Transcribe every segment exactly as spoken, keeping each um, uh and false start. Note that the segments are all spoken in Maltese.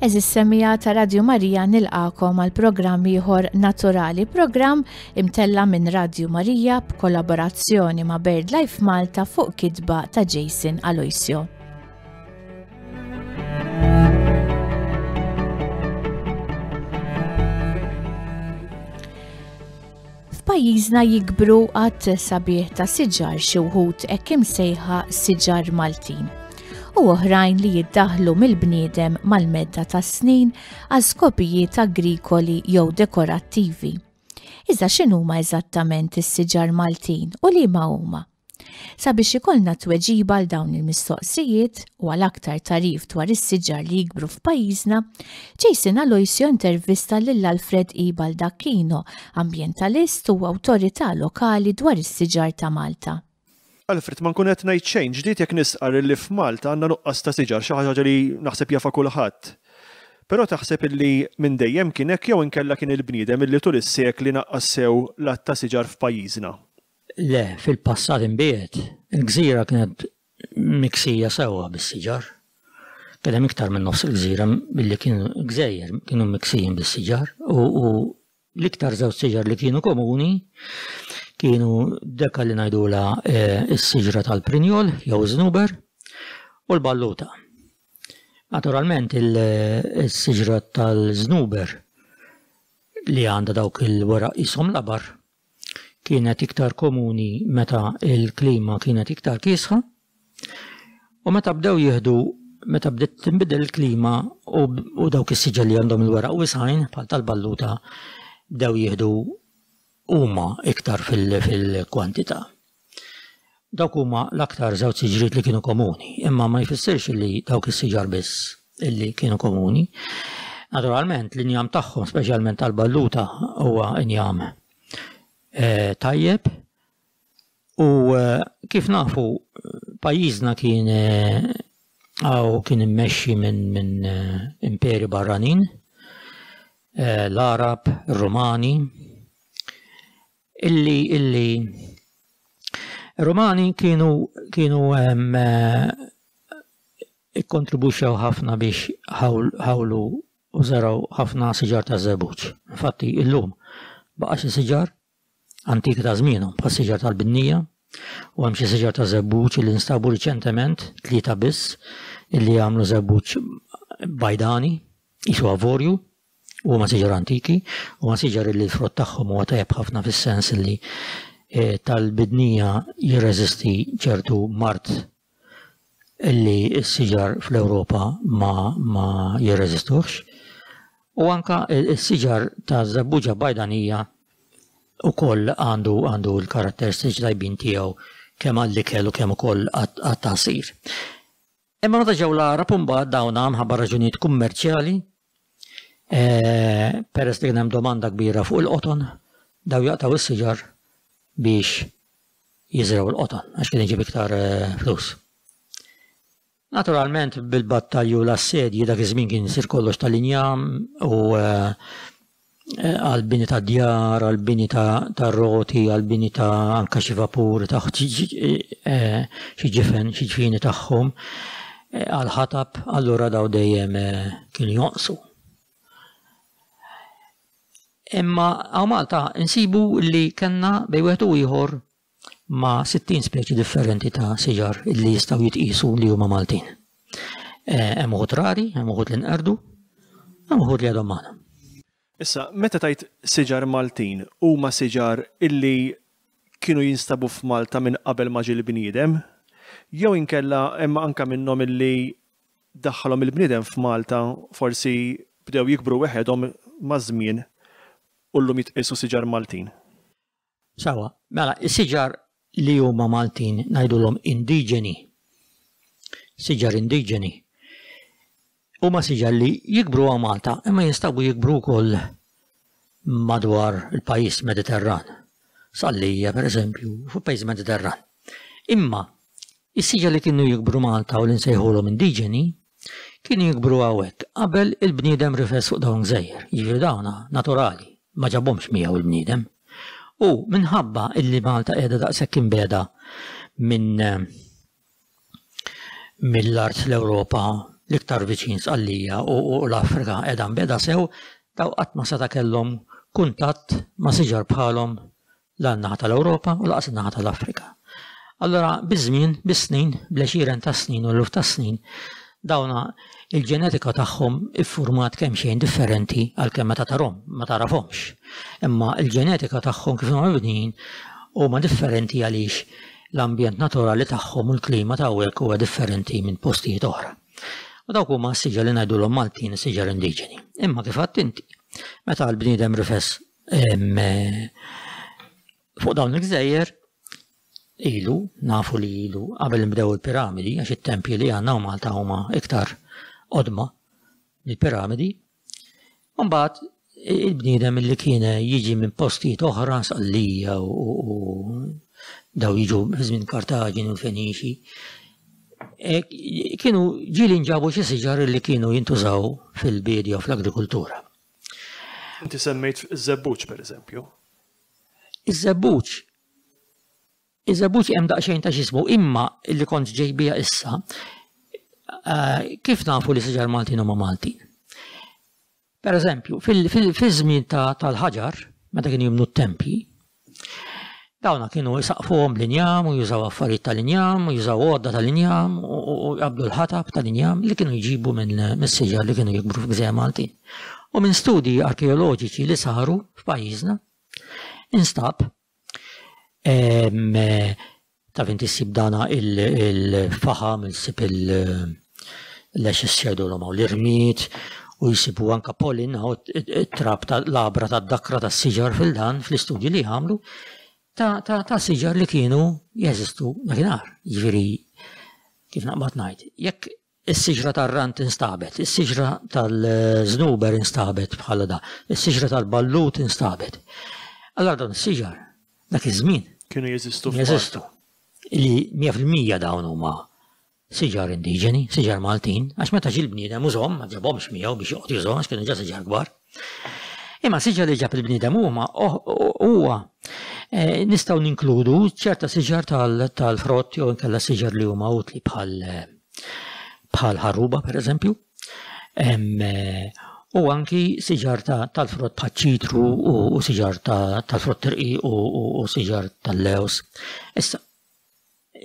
Għeżież semmiegħa ta' Radju Marija, nilqagħkom għal programm ieħor Naturali, programm imtella' minn Radju Marija b'kollaborazzjoni ma' BirdLife Malta fuq kitba ta' Jason Aloisio. F'pajjiżna jikbru għadd sabiħ ta' siġar, xi wħud hekk imsejħa siġar Maltin u oħrajn li jiddaħlu mill-bniedem mal-medda ta' snin għal skopijiet agrikoli jew dekorattivi. Iżda x'inhuma eżattament is-siġar Maltin u liema huma? Sabiex ikollna tweġiba għal dawn il-mistoqsijiet u għal aktar tagħrif dwar is-siġar li jikbru f'pajjiżna, Jason Aloisio intervista lil Alfred E. Baldacchino, ambjentalist u awtorità lokali dwar is-siġar ta' Malta. Alfred, ma nkun qed ngħid xejn ġdid jekk nistqar li f'Malta għandna nuqqas ta' siġar, xi ħaġa li naħseb jafa kulħadd. Però taħseb illi minn dejjem kien hekk jew inkella kien il-bniedem illi tul is-sekli naqqas sew l-għadd ta' siġar f'pajjiżna? Le, fil-passat imbiegħed, il-gżira kienet miksija sewwa bis-siġar. Kien hemm iktar minn nofs il-gżira billi kienu gżejjer kienu miksijin bis-siġar u, u l-iktar żewġ siġar li kienu komuni kienu deka li ngħidulha eh, is-siġra tal-prinjol jew żnuber u l-balluta. Naturalment il-siġra tal-żnuber li għandha dawk il-weraq qishom labar kienet iktar komuni meta il-klima kienet iktar kiesħa u meta bdew jieħdu, meta bdiet tinbidel il-klima u, u dawk is-siġar li għandhom il-weraq wisgħin bħal tal-balluta bdew jieħdu huma iktar fil-kwantità. Dawk huma l-aktar żewġ siġriet li kienu komuni, imma ma jfissirx li dawk is-siġar biss illi kienu komuni. Naturalment l-injam tagħhom, speċjalment tal-balluta, huwa injam eh, tajjeb u eh, kif nafu pajjiżna kien għaw eh, kien immexxi minn min imperi barranin, l-Arab, ir-Rumani, illi illi Romani kienu kienu ikkontribwixxew ħafna biex ħawlu u żaraw ħafna siġar ta' żebbuġ. Infatti illum baqa' xi siġar antiki ta' żmienhom bħal siġar tal-Binnija u hemm xi siġar ta' żebbuġ li nstabu riċentement, tlieta biss, illi jagħmlu żebbuġ bajdani qisu avorju, u huma siġar antiki, u huma siġar li l-frott tagħhom huwa tajjeb ħafna fis-sens li eh, tal-bidnija jirreżisti ċertu mard illi s-siġar fl-Ewropa ma, ma jirreżistuhx. U anka s-siġar ta' żebbuġa bajdanija ukoll għandu għandu l-karatteristiċi tajbin tiegħu kemm għall-ikel u kemm ukoll għat-tagħsir. Imma meta ġew l-Għarab imbagħad dawna minħabba raġunijiet kummerċjali, eh, peress li kien hemm domanda kbira fuq il-qoton, daw jaqtgħu is-siġar biex jiżraw il-qoton għax kien iġib iktar eh, flus. Naturalment bil-battalju l-assedji dak iż-żmien kien isir kollox tal-injam u eh, għal-bini ta' djar, għal-bini ta' roti, għal-bini ta' anka xi vapur, ta' xi ġifen, xi ġfini tagħhom, għal-ħatab, allura daw dejjem kienu jonqsu. Imma hawn Malta insibu li kellna bejn wieħed u ieħor ma' sittin speċi differenti ta' siġar li jistgħu jitqisu li huma Maltin. Hemm uħud rari, hemm uħud li nqerdu, hemm uħud li għadhom magħna. Issa, meta tajt siġar Maltin, huma siġar illi kienu jinstabu f'Malta minn qabel ma ġie l-bniedem, jew inkella hemm anka minnhom illi daħħalhom il-bniedem f'Malta, forsi bdew jikbru weħedhom maż-żmien u llum jitqisu siġar Maltin? Sawa, mela, is-siġar li huma Maltin ngħidulhom indiġeni. Siġar indiġeni. Huma siġar li jikbru hawn Malta imma jinstabu jikbru wkoll madwar il-pajjiż Mediterran. Sqallija, pereżempju, fuq pajjiż Mediterran. Imma is-siġar li kienu jikbru Malta u li nsejħulhom indiġeni kienu jikbru hawnhekk qabel il-bniedem rifes fuq dawn gżejjer. Jiġifieri dawna naturali, ma ġabhomx miegħu il-bniedem. U minħabba illi Malta qiegħda daqshekk imbegħda minn mill-art l-Ewropa l-iktar viċin Sqallija u l-Afrika qiegħda mbiegħda sew, daw qatt ma seta' kellhom kuntatt ma' siġar bħalhom la n-naħa tal-Ewropa u lanqas in-naħa tal-Afrika. Allora, biż-żmien, bis-snin, bl-għexieren ta' snin u l-eluf ta' snin, dawna il-ġenetika tagħhom iffurmat kemm xejn differenti għalkemm meta tarhom ma tarafhomx. Imma il-ġenetika tagħhom kif huma mibnijin huma differenti għaliex l-ambjent naturali tagħhom u l-klima ta' hawnhekk huwa differenti minn postijiet oħra. U dawk huma s-siġar li ngħidulhom Maltin, siġar indiġeni. Imma kif għedt inti, meta l-bniedem rifes fuq dawn il-gżejjer, ilu, nafu li ilu qabel nbdew il-piramidi, għax it-tempji li għandna u Malta huma iktar qodma mill-piramidi. Mbagħad il-bniedem li kien jiġi minn postijiet oħra, Sqallija u daw jiġu żmien Kartaġini u l-Feniċi, e, kienu ġieli nġabu xi siġar li kienu jintużaw fil-bidja u fl-agrikultura. Inti semmejt iż-żebbuġ per eżempju. Iż-żebbuġ. Iż-żebbuġ hemm daqsxejn ta' x'ismu, imma li kont ġej bija issa, eh, kif nafu li siġar Maltin huma Maltin? Per eżempju, fil-żmien tal-ħaġar, meta kienu jibnu t-tempji, dawna kienu jisaqfuhom l-injam u jużaw affarijiet tal-injam u jużaw għodda tal-injam u jqabdu l-ħatab tal-injam li kienu jġibu minn mis-siġar li kienu jikbru f'Gżejjer Maltin. U minn studji arkeoloġiċi li saru f'pajjiżna, instab taf inti ssib dana il-faħam, issib il-lex xejdulhom l-irmied, u jisibu anka pollen, it-trab tal-labra tad-dakra tas-siġar fil-dan fl-istudji li għamlu ta' ta' siġar li kienu jeżistu dakinhar. Jiġifieri kif naqbad ngħid, jekk is-siġra tar-rant instabet, is-siġra tal-żnuber instabet bħala da, is-siġra tal-ballut instabet. Allora dawn is-siġar dak iż-żmien kienu jeżistu. Jeżistu. Li mija fil-mija dawn huma siġar indiġeni, siġar Maltin, għax meta ġie l-bniedem użhom, ma ġabhomx miegħu biex joqgħod jużhom għax kienu ġa siġar kbar. Imma siġar li ġab il-bniedem huma huwa nistgħu ninkludu ċerta siġar tal-frott jew inkella siġar li huma utli bħal bħal ħarruba pereżempju. U anki siġar tal-frott bħal ċitru u siġar tal-frott irqiq u siġar tal-lews. Issa,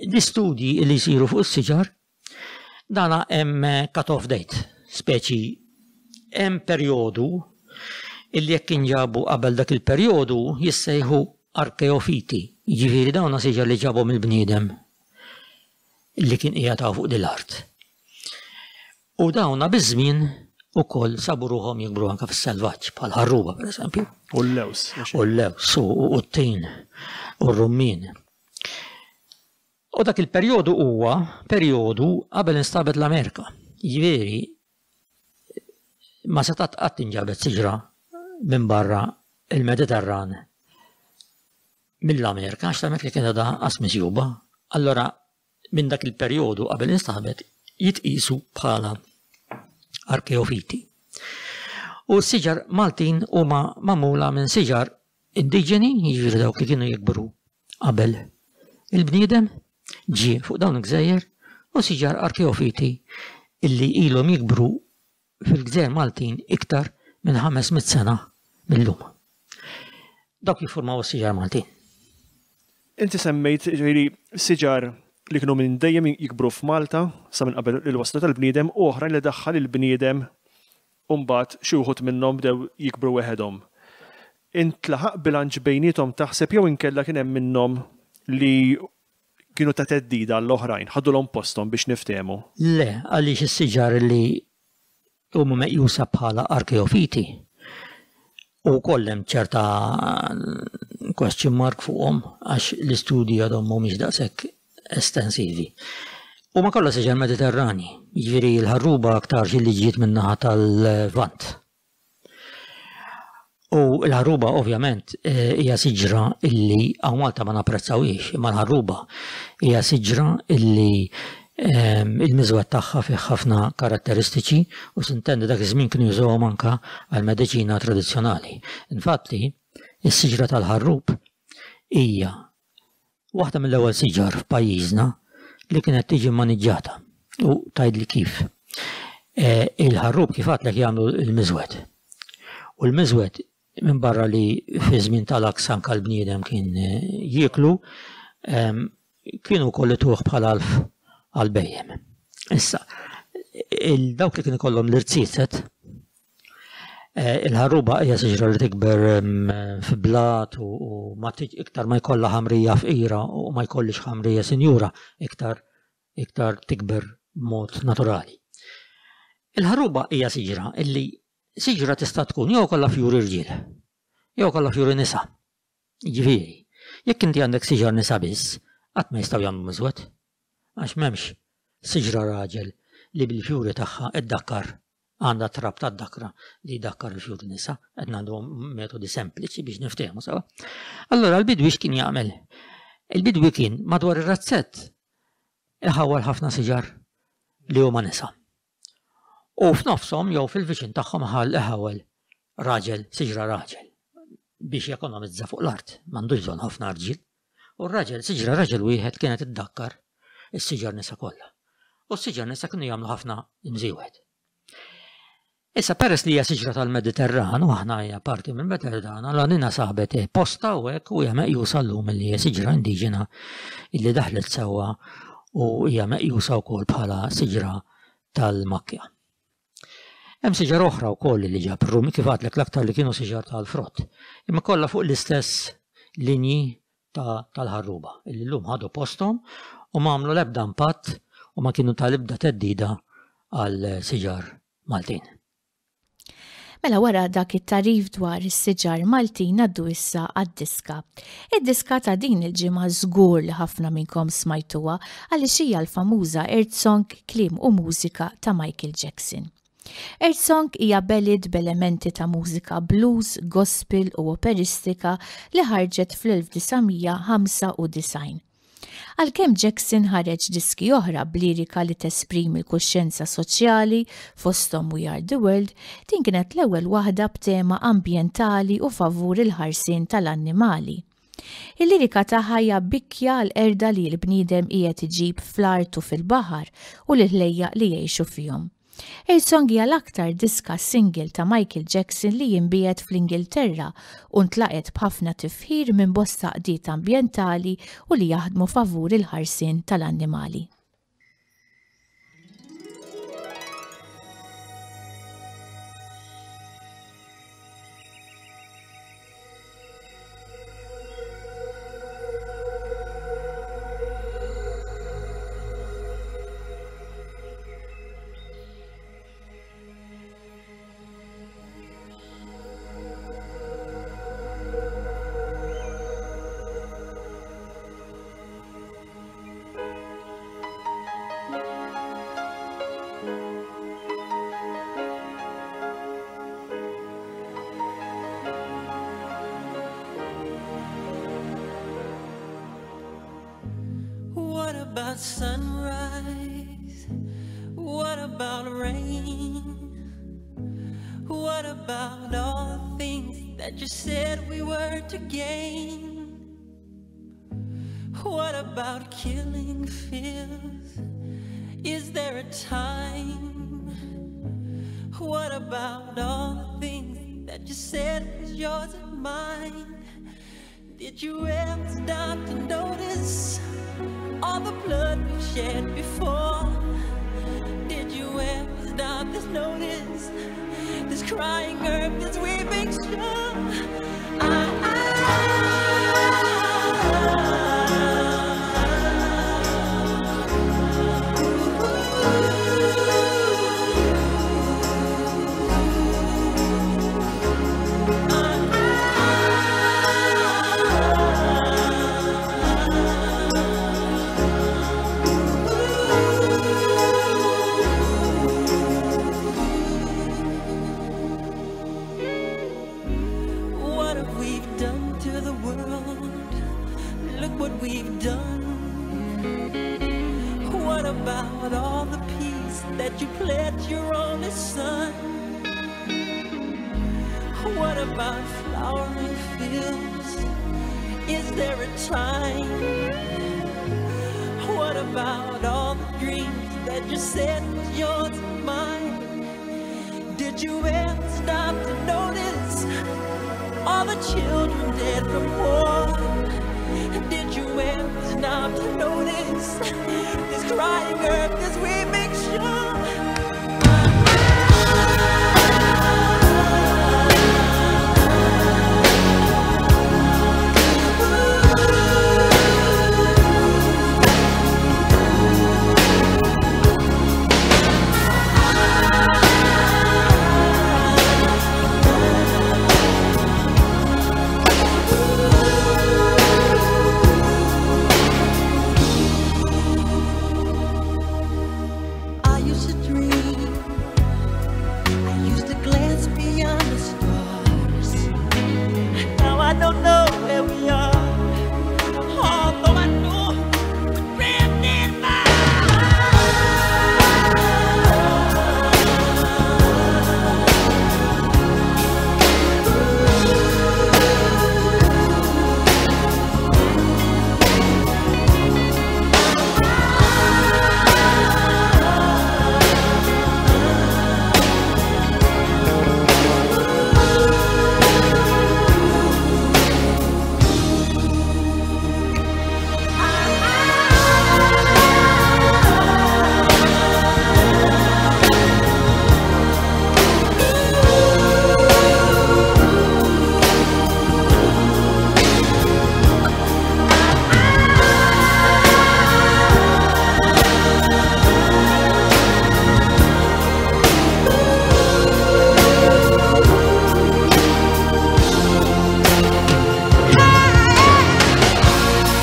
l-istudji li jsiru fuq is-siġar, dana hemm cut-off date, speċi hemm perjodu illi jekk inġabu qabel dak il-perjodu jissejħu arkeofiti, jiġifieri dawna siġar li ġabhom il-bniedem li kien qiegħed hawn fuq din l-art. U dawna biż-żmien ukoll sabu ruħhom jikbru anke fis-selvaġġ bħal ħarruba pereżempju. U l-lews. U l-lews u t-tin u r-rummien. U dak il-perjodu huwa perjodu qabel instabet l-Amerika. Jiġifieri ma setat qatt inġabet siġra minn barra il-Mediterran mill-Amerika, għax l-Amerika kienet għadha qas misjuba. Allora minn dak il-perjodu qabel instabet jitqisu bħala arkeofiti. U s-siġar Maltin huma magħmula minn siġar indiġeni, jiġifieri dawk li kienu jikbru qabel il-bniedem ġie fuq dawn il-gżejjer, u siġar arkeofiti illi ilhom jikbru fil-gżejjer Maltin iktar minn ħames mitt sena mill-lum. Dawk jiffurmaw is-siġar Maltin. Inti semmejt ġifieri siġar li kienu minn dejjem jikbru f'Malta sa minn qabel il-wasla tal-bniedem u oħrajn li daħħal il-bniedem u mbagħad xi wħud minnhom bdew jikbru weħedhom. Intlaħaq bilanċ bejniethom taħseb jew inkella kien hemm minnhom li kienu ta' theddida għall-oħrajn, ħadulhom posthom biex niftehmu? Le, għaliex is-siġar li huma meqjusa bħala arkeofiti u wkoll hemm ċerta question mark fuqhom għax l-istudji għadhom mhumiex daqshekk estensivi. Huma kollha siġar Mediterrani, jiġifieri l-ħarruba aktar xi li ġiet min-naħa tal-Lvant. U l-ħarruba ovvjament hija siġra illi hawn Malta ma napprezzawhiex, imma l-ħarruba hija siġra illi il-miżwed tagħha fih ħafna karatteristiċi u sintendi dak iż-żmien kienu jużawhom anke għall-mediċina tradizzjonali. Infatti, is-siġra tal-ħarrub hija waħda mill-ewwel siġar f'pajjiżna li kienet tiġi maniġġata. U tgħidli kif. Il-ħarrub kif għedtlek jagħmlu l-miżwed. U l-miżwed minn barra li fi żmien tal-aks anke l-bniedem kien jieklu, kienu wkoll ituh bħala għalf għall-bhejjem. Issa, dawk li kien ikollhom l-irziezet, il-ħarruba hija siġra li tikber fi blat u ma iktar ma jkollha ħamrija fqira u ma jkollix ħamrija sinjura, iktar iktar tikber b'mod naturali. Il-ħarruba hija siġra illi siġra tista' tkun jew kollha fjuri rġiel, jew kollha fjuri nisa. Jiġifieri, jekk inti għandek siġar nisa biss, qatt ma jistgħu jagħmlu miżwed. Għax m'hemmx siġra raġel li bil-fjuri tagħha iddakkar għandha trab tad-dakra li jdakkar il-fjuri nisa, qed ngħidu metodi sempliċi biex niftehmu sewa. Allura l-bidwi x'kien jagħmel? Il-bidwi kien madwar ir-razzett iħawwal ħafna siġar li huma nisa. U f'nofshom jew fil-viċin tagħhom ħall iħawwel raġel, siġra raġel, biex jekonomizza fuq l-art, m'għandux bżonn ħafna rġiel. U r-raġel, siġra raġel wieħed kienet iddakkar is-siġar nisa kollha. U s-siġar nisa kienu jagħmlu ħafna imżiewed. Issa peress li hija siġra tal-Mediterran u aħna hija parti mill-Mediterran, allura nina saħbet posta u hekk u hija meqjusa llum li hija siġra indiġena illi daħlet sewwa u hija meqjusa wkoll bħala siġra tal-makkja. Hemm siġar oħra wkoll li ġab ir-Rumi, kif għadlek l-aktar li kienu siġar tal-frott, imma kollha fuq l-istess linji tal-ħarruba illi llum ħadu posthom u ma għamlu l-ebda impatt u ma kienu tal-ebda theddida għal siġar Maltin. Mela wara dak it-tarif dwar is-siġar Maltin ngħaddu issa għad-diska. Id-diska ta' din il-ġimgħa żgur li ħafna minnkom smajtuha għaliex hija l-famuża Earth Song, kliem u mużika ta' Michael Jackson. Earth Song hija ballad b'elementi ta' mużika blues, gospel u operistika li ħarġet fl-elf disa' mija ħamsa u disgħin. Għalkemm Jackson ħareġ diski oħra b'lirika li tesprimi l-kuxjenza soċjali fosthom We Are the World, din kienet l-ewwel waħda b'tema ambjentali u favur il-ħarsien tal-annimali. Il-lirika tagħha hija bikkja għall-qerda li l-bniedem qiegħed iġib fl-art u fil-baħar u l-ħlejjaq li jgħixu fihom. Earth Song hija l-aktar diska single ta' Michael Jackson li jinbiegħet fl-Ingilterra u ntlaqet b'ħafna tifħir minn bosta qdiet ambjentali u li jaħdmu favur il-ħarsien tal-annimali. What about sunrise? What about rain? What about all the things that you said we were to gain? What about killing fears? Is there a time? What about all the things that you said was yours and mine? Did you ever stop to notice all the blood we've shed before? Did you ever stop to notice this crying earth, this weeping shore? I, I, we've done. What about all the peace that you pledged your only son? What about flowering fields? Is there a time? What about all the dreams that you said was yours and mine? Did you ever stop to notice all the children dead from war? Did you ever stop to notice this crying earth as we make sure? I used to dream, I used to glance beyond the stars. Now I don't know where we are, although I know we're drifting by.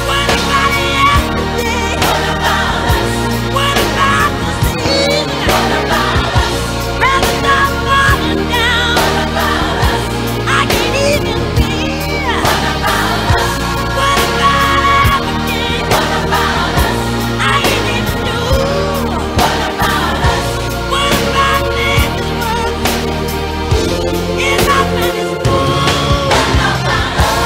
What about yesterday? What about us? What about the season? What about us? Rather stop falling down. What about us? I can't even feel. What about us? What about everything? What about us? I ain't even knew. What about us? What about this world? Is our planet blue? What about us?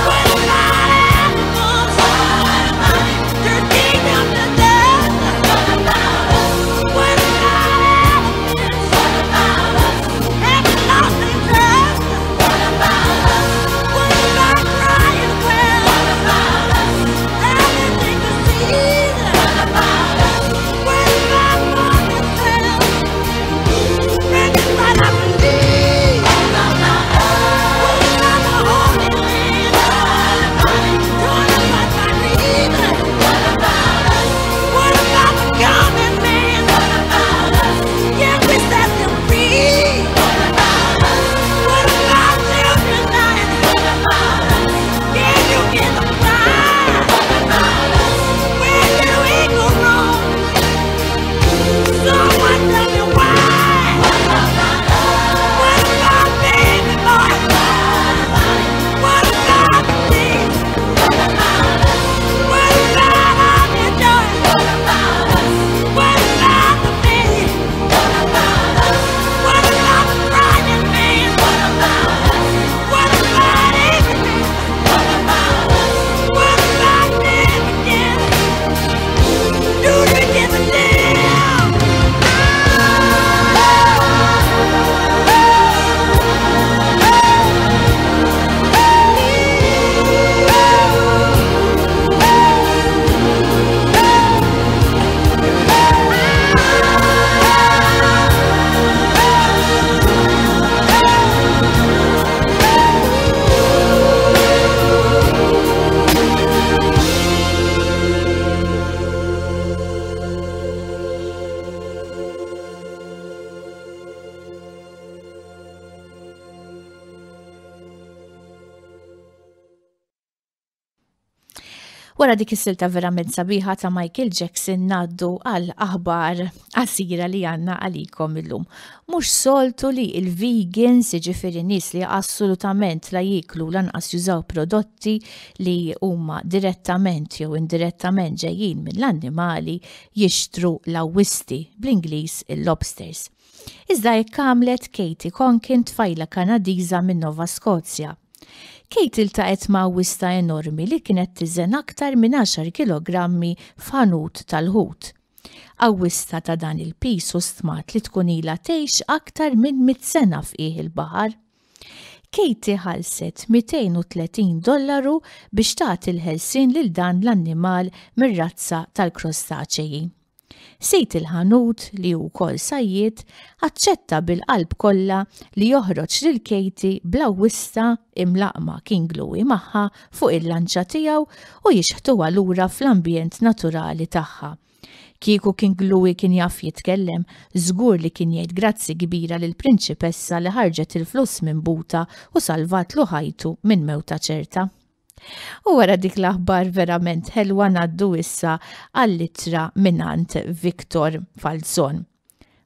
What about animals? What about it? Turning down the dust. What about us? What about elephants? What about us? Haven't lost their trust. What about us? What about crying whales? What about us? Haven't taken the seas. What about us? What about mother cells? Practice what I believe. What about us? What about the Holy Land? What about it? Torn apart by greed. What about us? What about the common man? What about us? Can we set them free? What about us? What about children dying? What about us? Can you get them right? What about us? Where did we go wrong? Someone tell me why. What about us? What about baby boy? What about the kids? What about us? What about all the joy? What about us? What about the pain? What about us? What about the crying man? What about us? What about everything? What about us? What about them again? Do they give a damn? Wara dik is-silta verament sabiħa ta' Michael Jackson ngħaddu għal aħbar qasira li għandna għalikom illum. Mhux soltu li il-vegans, jiġifieri nies li assolutament la jieklu lanqas jużaw prodotti li huma direttament jew indirettament ġejjin mill-annimali, jixtru l-awwisti, bl-Ingliż il-lobsters. Iżda hekk għamlet Katie Conkin, tfajla Kanadiża minn Nova Scotia. Kate iltaqgħet ma' awwista enormi li kienet tiżen aktar minn għaxar kilogrammi f'ħanut tal-ħut. Awwista ta' dan il-piż u stmat li tkun ilha tgħix aktar minn mitt sena f'qiegħ il-baħar. Katie ħallset mitejn u tletin dollaru biex tagħti l-ħelsien lil dan l-annimal mir-razza tal-krostaċeji. Sid il-ħanut, li hu wkoll sajjied, aċċetta bil-qalb kollha li joħroġ lil Katie bl-awwista imlaqma King Louie magħha fuq il-lanċa tiegħu u jixħtuha lura fl-ambjent naturali tagħha. Kieku King Louie kien jaf jitkellem, żgur li kien jgħid grazzi kbira lill-prinċipessa li ħarġet il-flus minn buta u salvatlu ħajtu minn mewta ċerta. U wara dik l-aħbar verament ħelwa ngħaddu issa għall-ittra mingħand Victor Falzon.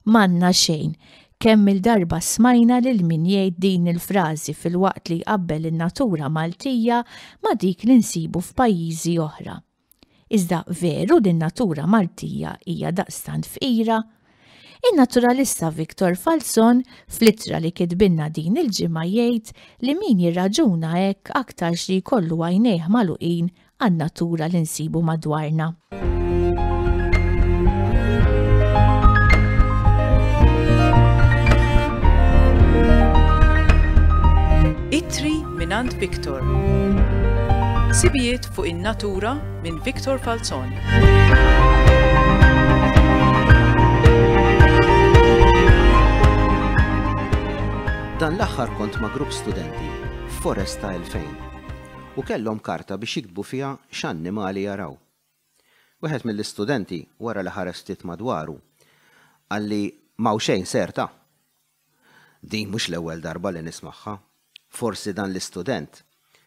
M'għandna xejn, kemm il-darba smajna lil min jgħid din il-frażi filwaqt li jqabbel in-natura Maltija ma' dik li nsibu f'pajjiżi oħra. Iżda veru li n-natura Maltija hija daqstant fqira? In-naturalista Victor Falzon fl-ittra li kitbilna din il-ġimgħa jgħid li min jirraġuna hekk aktarx li jkollu għajnejh magħluqin għan-natura li nsibu madwarna. Ittri mingħand Victor. Sibijiet fuq in-natura minn Victor Falzon. Dan l-aħħar kont ma' grupp studenti f'Foresta elfejn u kellhom karta biex jiktbu fiha x'annimali jaraw. Wieħed mill-istudenti wara li ħares ftit madwaru qalli m'hawn xejn serta. Din mhux l-ewwel darba li nismagħha. Forsi dan l-istudent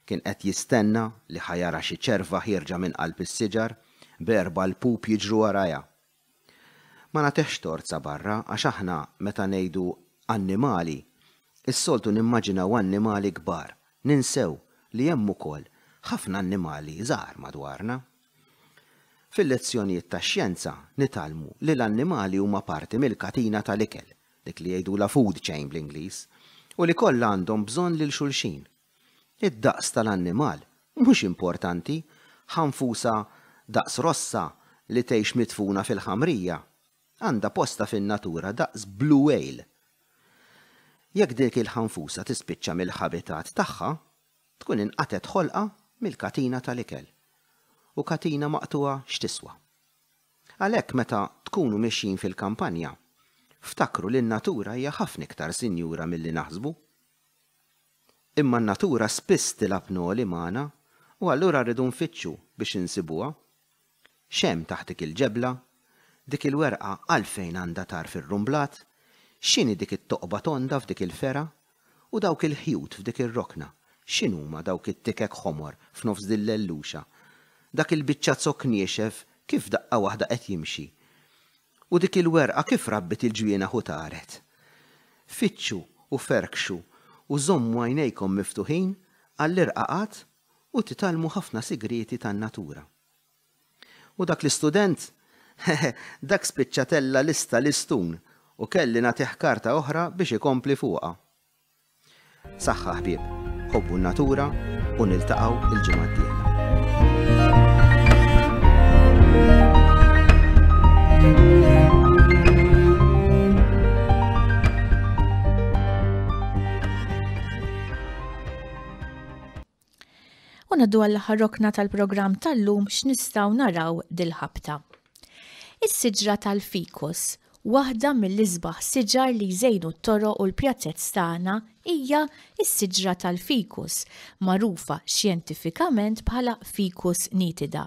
kien qed jistenna li ħajara xi ċerva ħierġa minn qalb is-siġar b'erba' l-pup jiġru warajha. Ma nagħtihx torza barra għax aħna meta ngħidu annimali is-soltu nimmaġinaw annimali kbar, ninsew li hemm ukoll ħafna annimali żgħar madwarna. Fil-lezzjonijiet tax-xjenza nitgħallmu li l-annimali huma parti mill-katina tal-ikel, dik li jgħidulha food chain bl-Ingliż, u li kollha għandhom bżonn lil xulxin. Id-daqs tal-annimal mhux importanti, ħanfusa daqs rossa li tgħix mitfuna fil-ħamrija, għandha posta fin-natura daqs blue whale. Jekk dik il-ħanfusa tispiċċa mill-ħabitat tagħha, tkun inqatet ħolqa mill-katina tal-ikel. U katina maqtuha x'tiswa. Għalhekk meta tkunu mixjin fil-kampanja, ftakru li n-natura hija ħafna iktar sinjura milli naħsbu. Imma n-natura spiss tilgħab noli magħna u allura rridu nfittxu biex insibuha. X'hemm taħt dik il-ġebla? Dik il-werqa għalfejn għandha tarf ir-rumblat? X'inhi dik it-toqba tonda f'dik il-fera? U dawk il-ħjut f'dik ir-rokna? X'inhuma dawk it-tikek ħomor f'nofs din l-elluxa? Dak il-biċċa zokk niexef kif daqqa waħda qed jimxi? U dik il-werqa kif rabbit il-ġwienaħ u taret? Fittxu u ferkxu u żommu għajnejkom miftuħin għall-irqaqat u titgħallmu ħafna sigrieti tan-natura. U dak l-istudent, dak spiċċa tella lista l-istun u kelli nagħtih karta oħra biex ikompli fuqha. Saħħa ħbieb, ħobbu n-natura u niltaqgħu il-ġimgħa d-dieħla. U ngħaddu għall-aħħar rokna tal-programm tal-lum x'nistgħu naraw dil-ħabta. Is-siġra tal-fikus, waħda mill-isbaħ siġar li jżejnu t-toroq u l-pjazzezz tagħna, hija s-siġra tal-fikus, magħrufa xjentifikament bħala Ficus nitida.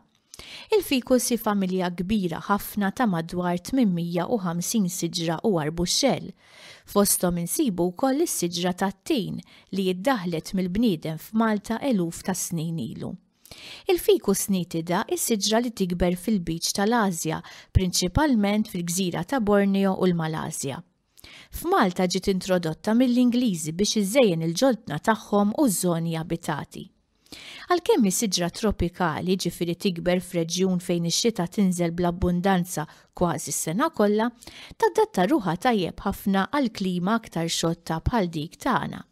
Il-fikus hi familja kbira ħafna ta' madwar tmien mija u ħamsin siġra u arbuxxell. Fosthom insibu wkoll is-siġra tat-tin li jiddaħlet mill-bniedem f'Malta eluf ta' snin ilu. Il-Ficus nitida hi siġra li tikber fil-biċ tal-Asja, prinċipalment fil-gżira ta' Borneo u l-Malasja. F'Malta ġiet introdotta mill-Ingliżi biex iżejjen il-ġoltna tagħhom u ż-żoni abitati. Għalkemm hi siġra tropikali, ġifieri tikber f'reġjun fejn ix-xita tinżel bl-abbundanza kważi s-sena kollha, tadatta ruħha tajjeb ħafna għal klima aktar xotta bħal dik tagħna.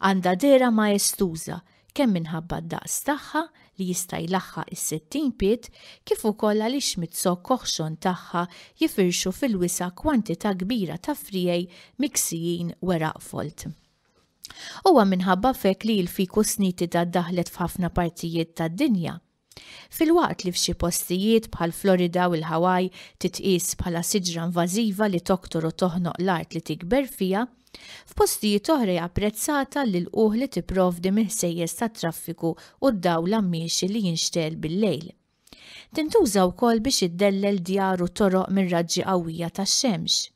Għandha dehra maestuża, kemm minħabba d-daqs tagħha li jista' jlaħħaq is-sittin pied kif ukoll għaliex miz-zokk oħxon tagħha jifirxu fil-wisa' kwantità kbira ta' friegħi miksijin weraq folt. Huwa minħabba f'hekk li l-Ficus nitida ddaħlet f'ħafna partijiet tad-dinja. Filwaqt li f'xi postijiet bħal Florida u l-Hawaii titqies bħala siġra invażiva li toktor u toħnoq l-art li tikber fiha, f'postijiet oħra hija apprezzata l-ilqugħ li tipprovdi mill-ħsejjes tat-traffiku u d-dawl għammiexi li jinxtegħel bil-lejl. Tintuża wkoll biex iddellel djar u toroq mir-raġġi qawwija tax-xemx.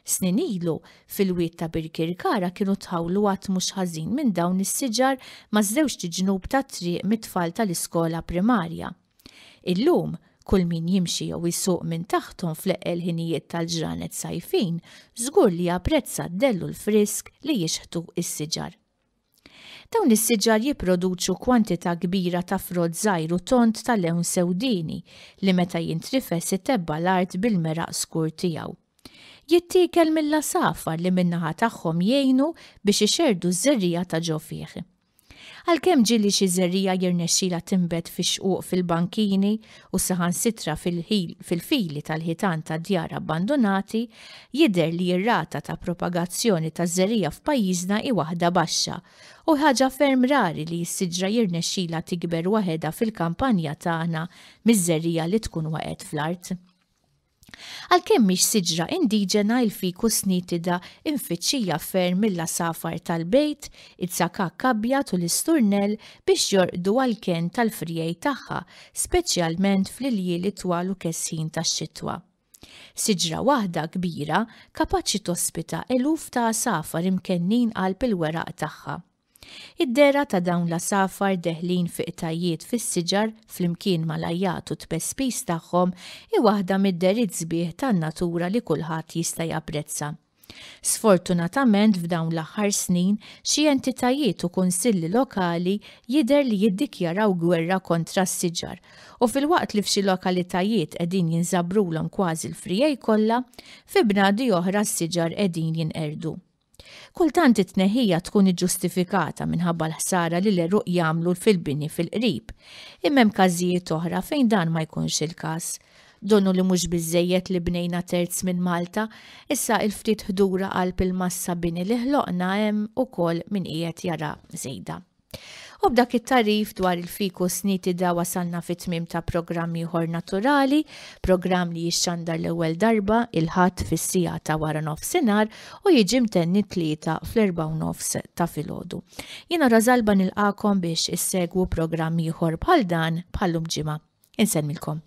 Snin ilu, fil-wied ta' Birkirkara kienu tħawlu għadd mhux ħażin minn dawn is-siġar maż-żewġt iġnub tat-triq mit-tfal tal-iskola primarja. Illum, kull min jimxi jew isuq minn taħthom fl-eqqel ħinijiet tal-ġranet sajfin żgur li japprezza d-dell u l-frisk li jixħtu s-siġar. Dawn is-siġar jipproduċu kwantità kbira ta' frott żgħir u tond ta' lewn sewdieni li meta jintrifes itebba' l-art bil-meraq skur tiegħu. Jittiekel mill-għasafar li min-naħa tagħhom jgħinu biex ixerrdu ż-żerriegħa ta' ġo fih. Għalkemm ġieli xi żerriegħa jirnexxilha tinbet fix-xquq fil-bankini u saħansitra fil-fili tal-ħitan ta' djar abbandunati, jidher li r-rata ta' propagazzjoni taż-żerriegħa f'pajjiżna hi waħda baxxa u ħaġa ferm rari li s-siġra jirnexxilha tikber waħedha fil-kampanja tagħna miż-żerriegħa li tkun waqgħet fl-art. Għalkemm mhix siġra indiġena il-Ficus nitida imfittxija ferm mill-għasafar tal-bejt, iz-zakak abjad u l-isturnell biex jorqdu għall-kenn tal-friegħi tagħha, speċjalment fl-iljieli twal u kesħin tax-xitwa. Siġra waħda kbira kapaċi tospita eluf ta' għasafar imkennin qalb il-weraq tagħha. Id-dehra ta' dawn l-għasafar deħlin fi qtajjiet fis-siġar flimkien mal-għajjat u t-tpespis tagħhom hi waħda mid-dehriet sbieħ tan-natura li kulħadd jista' japprezza. Sfortunatament f'dawn l-aħħar snin xi entitajiet u kunsilli lokali jidher li jiddikjaraw gwerra kontra s-siġar u filwaqt li f'xi lokalitajiet qegħdin jinżabrulhom kważi l-friegħi kollha, fi bnadi oħra s-siġar qegħdin jinqerdu. Kultant it-tneħħija tkun iġġustifikata minħabba l-ħsara li l-għeruq jagħmlu fil-bini fil-qrib, imma hemm każijiet oħra fejn dan ma jkunx il-każ. Donnu li mhux biżżejjed li bnejna terz minn Malta, issa il-ftit ħdura qalb il-massa bini li ħloqna hemm ukoll min qiegħed jara żejda. U b'dak it-tagħrif dwar il-Ficus nitida wasalna fit-tmiem ta' programm ieħor naturali, programm li jixxandar l-ewwel darba il-Ħadd fis-siegħa ta' wara nofsinhar u jiġi mtenni tlieta fl-erbgħa u nofs ta' filgħodu. Jiena Rosalba nilqakom biex issegwu programm ieħor bħal dan bħallum ġimgħa. Insellmilkom.